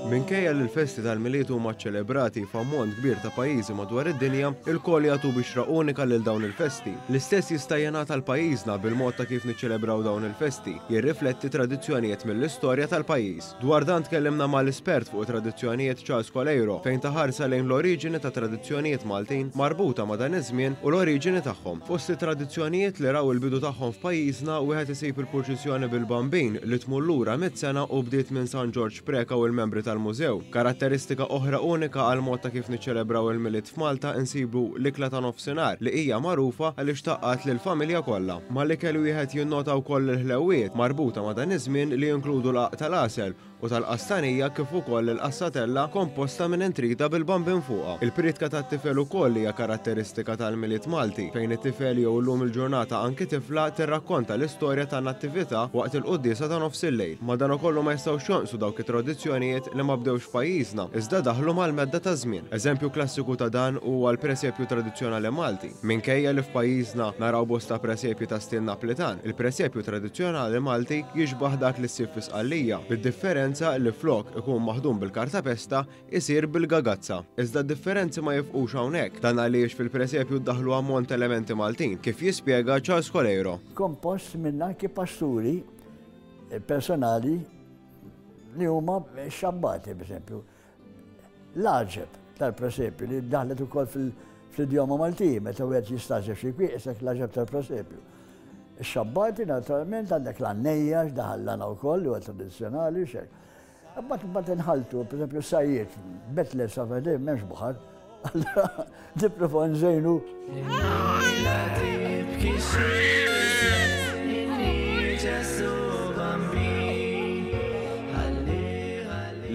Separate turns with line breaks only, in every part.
Minkejja li l-festi tal-Milied huma ċċelebrati f'ammont kbir ta' pajjiżi madwar id-dinja, ilkoll jagħtu bixra unika lil dawn il-festi. L-istess jista' jingħad għal pajjiżna bil-mod ta' kif niċċelebraw dawn il-festi, jirrifletti tradizzjonijiet mill-istorja tal-pajjiż. Dwar dan tkellimna mal-espert fuq it-tradizzjonijiet Charles Coleiro fejn ta ħarsa lejn l-oriġini ta' tradizzjonijiet Maltin marbuta ma' dan iż-żmien u l-oriġini tagħhom. Fost it-tradizzjonijiet li raw il-bidu tagħhom f'pajjiżna wieħed isib il-purċissjoni bil-Bambin li tmur lura mitt sena u bdiet minn San Ġorġ Preca u l-membri tal-mużew. Karatteristika oħra unika għall-mod ta' kif niċċelebraw il-Milied f'Malta insibu l-ikla ta' nofsinhar li hija magħrufa għaliex tgħaqqad lill-familja kollha. Mal-ikel wieħed jinnota wkoll il-ħlewwiet marbuta ma' dan iż-żmien li jinkludu l-qagħaq tal-għasel u tal-qastanija kif ukoll il-qassatella komposta minn intrida bil-bambin fuqha. Il-prietka tat-tifel ukoll hija karatteristika tal-Milied Malti, fejn it-tifel jew illum il-ġurnata anki tifla tirrakkonta l-istorja tan-Nattività waqt il-quddiesa ta' nofsillejl. Madankollu ma jistgħux jonqsu dawk it-tradizzjonijiet li ma bdewx f'pajjiżna, iżda daħlu mal-medda taż-żmien. Eżempju klassiku ta' dan huwa l-presepju tradizzjonali Malti. Minkejja li f'pajjiżna naraw bosta presepji ta' stil Naplitan, il-presepju tradizzjonali Malti jixbah dak li ssib fi Sqallija, bid-differenza li flok ikun maħdum bil-kartapesta, isir bil-gagazza. Iżda d-differenzi ma jifqux hawnhekk, dan għaliex fil-presepju ddaħħlu ammont ta' elementi Maltin, kif jispjega Charles Coleiro.
Kompost minn anki pasturi personali li huma xabbati, per esempio. L-għaġeb tal-presepju li daħlet ukoll fl-idjoma Maltija, meta wieħed jistagħġeb xi kwieq isek l-għaġeb tal-presepju. Ix-xabbati naturalment għandek l-għannejja x'daħal l-għana wkoll li huwa tradizzjonali xek. Imbagħad imbagħad inħaltu, pereżempju sajjiet, Betle sa m'hemmx baħar. Allura nipprova nżejnu.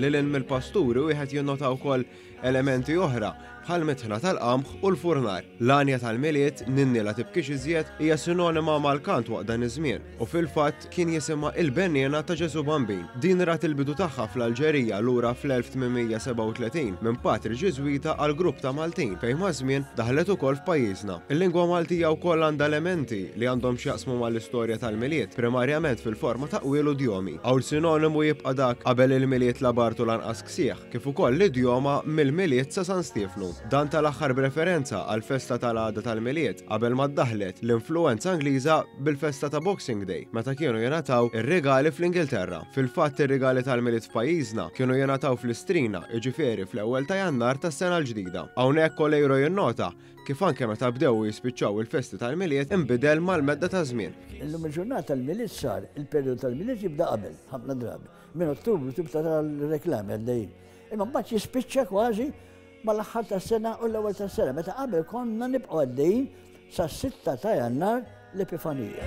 Lil hinn mill-pasturi wieħed jinnota wkoll elementi oħra bħall-mitħna tal-qamħ u l-furnar. L-għanja tal-Milied, Ninni la tibkix iżjed, hija sinonima mal-kant waqt dan iż-żmien u fil-fatt kien jisimha Il-Benniena ta' Ġesù Bambin. Din rat il-bidu tagħha fl-Alġerija lura fl-1837 minn patri Ġiżwita għal grupp ta' Maltin fejn maż-żmien daħlet ukoll f'pajjiżna. Il-lingwa Maltija wkoll għandha elementi li għandhom x'jaqsmu mal-istorja tal-Milied, primarjament fil-forma ta' qwiel u djomi. Hawn sinonimu jibqa' dak qabel il-Milied la bard u lanqas ksieħ, kif ukoll l-idjoma mill-Milied sa San Stiefnu. Dan tal-aħħar b'referenza għall-festa tal-għada tal-Milied, qabel ma ddaħħlet l-influwenza Ingliża bil-festa ta' Boxing Day, meta kienu jingħataw ir-rigali fl-Ingilterra. Fil-fatt ir-rigali tal-Milied f'pajjiżna kienu jingħataw fl-Istrina, jiġifieri fl-ewwel ta' Jannar tas-sena l-ġdida. Hawnhekk Coleiro jinnota kif anke meta bdew u jispiċċaw il-festi tal-Milied inbidel mal-medda taż-żmien.
Illum il-ġurnata l-Milied sar, il-perjodu tal-Milied jibda qabel, ħafna drabi. Minn Ottubru tibda tara l-reklami għaddejjin. Imma mbagħad jispiċċa kważi mal-aħħar tas-sena u l-ewwel tas-sena, meta qabel konna nibqgħu għaddejjin sas-sitta ta' Jannar l-Epifanija.